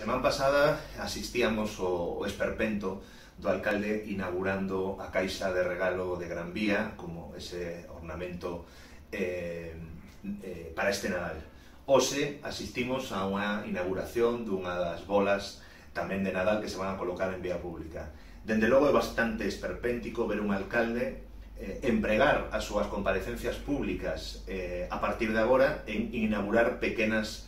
Semana pasada asistíamos ao esperpento do alcalde inaugurando a caixa de regalo de Gran Vía como ese ornamento para este Nadal. Hoxe asistimos a unha inauguración dunha das bolas tamén de Nadal que se van a colocar en vía pública. Dende logo é bastante esperpéntico ver un alcalde empregar as súas comparecencias públicas a partir de agora en inaugurar pequenos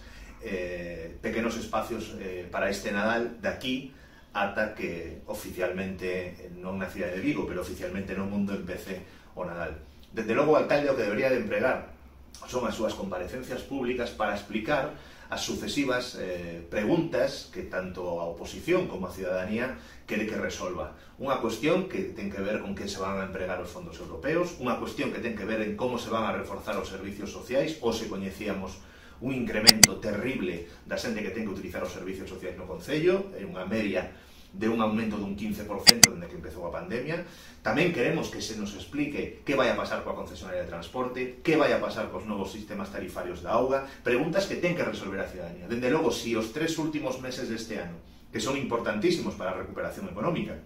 espacios para este Nadal de aquí ata que oficialmente, non na cidade de Vigo, pero oficialmente no mundo empece o Nadal. Desde logo o alcalde o que debería de empregar son as súas comparecencias públicas para explicar as sucesivas preguntas que tanto a oposición como a cidadanía quere que resolva. Unha cuestión que ten que ver con que se van a empregar os fondos europeos, unha cuestión que ten que ver en como se van a reforzar os servicios sociais, ou se coñecíamos un incremento terrible da xente que ten que utilizar os servicios sociais no Concello, en unha media de un aumento dun 15% dende que empezou a pandemia. Tamén queremos que se nos explique que vai a pasar coa concesionaria de transporte, que vai a pasar cos novos sistemas tarifarios da auga, preguntas que ten que resolver a cidadanía. Dende logo, si os 3 últimos meses deste ano, que son importantísimos para a recuperación económica,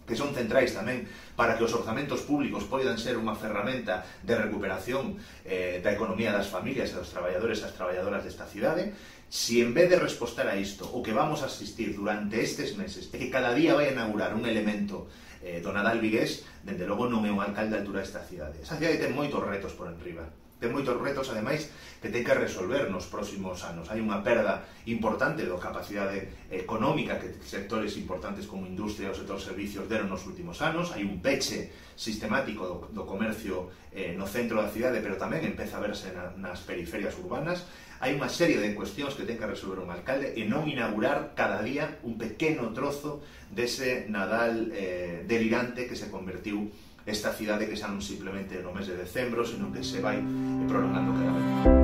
que son centrais tamén para que os orzamentos públicos poidan ser unha ferramenta de recuperación da economía das familias e dos traballadores e as traballadoras desta cidade, si en vez de respostar a isto, o que vamos a asistir durante estes meses é que cada día vai a inaugurar un elemento do Nadal vigués, dende logo non é un alcalde de altura desta cidade. Esa cidade ten moitos retos por enriba. Ten moitos retos, ademais, que ten que resolver nos próximos anos. Hai unha perda importante da capacidade económica que sectores importantes como industria e o sector servicios deron nos últimos anos. Hai un peche sistemático do comercio no centro da cidade, pero tamén empeza a verse nas periferias urbanas. Hai unha serie de cuestións que ten que resolver un alcalde e non inaugurar cada día un pequeno trozo dese Nadal delirante que se convertiu esta cidade, que xa non simplemente no mes de decembro, sino que se vai prolongando cada vez.